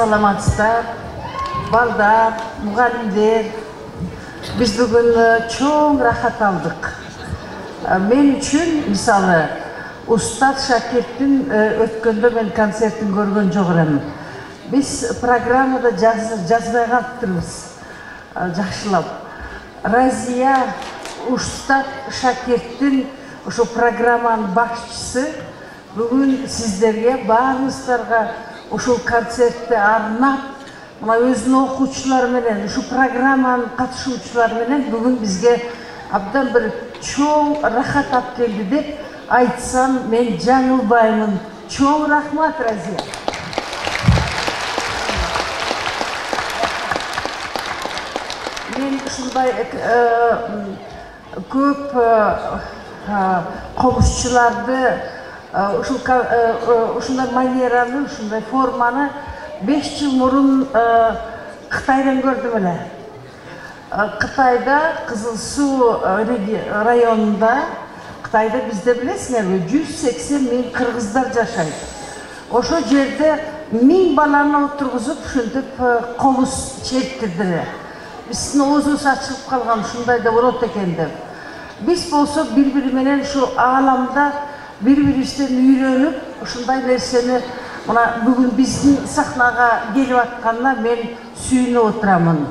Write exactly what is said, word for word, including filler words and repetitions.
саламатсыздар, балдар, мугалимдер. Биз бүгүн чоң рахат алдык. Мен үчүн, мисалы, Устат Шакирттин өткөндө мен концертин көргөн жок элем. Биз программада жазбай калыптырбыз. Жакшылап. Разия Устат Шакирттин ошо программанын башчысы бүгүн сиздерге, баарыңыздарга ошол концертти арнап, мына өзүнүн окуучулары менен, ушу программанын катышуучулары менен бүгүн бизге абдан бир чоң рахат алып келди деп айтсам, мен жаңылбаймын. Чоң рахмат, Разия. Мен ушундай көп комузчуларды ушундай манераны, ушундай форманы беш жыл мурун Кытайдан көрдүм эле. Кытайда, Кызыл Суу районунда, Кытайда бизде билесиңерби, жүз сексен миң кыргыздар жашайт. Ошо жерде миң баланы отургузуп, ушинтип комуз чечтирдилер. Биздин оозубуз ачылып калган, ушундай да болот экен деп. Биз болсо бири-бири менен ушу ааламда бири-бирибизден үйрөнүп, ушундай нерсени мына бүгүн биздин сахнага келип атканына мен сүйүнүп отурамын.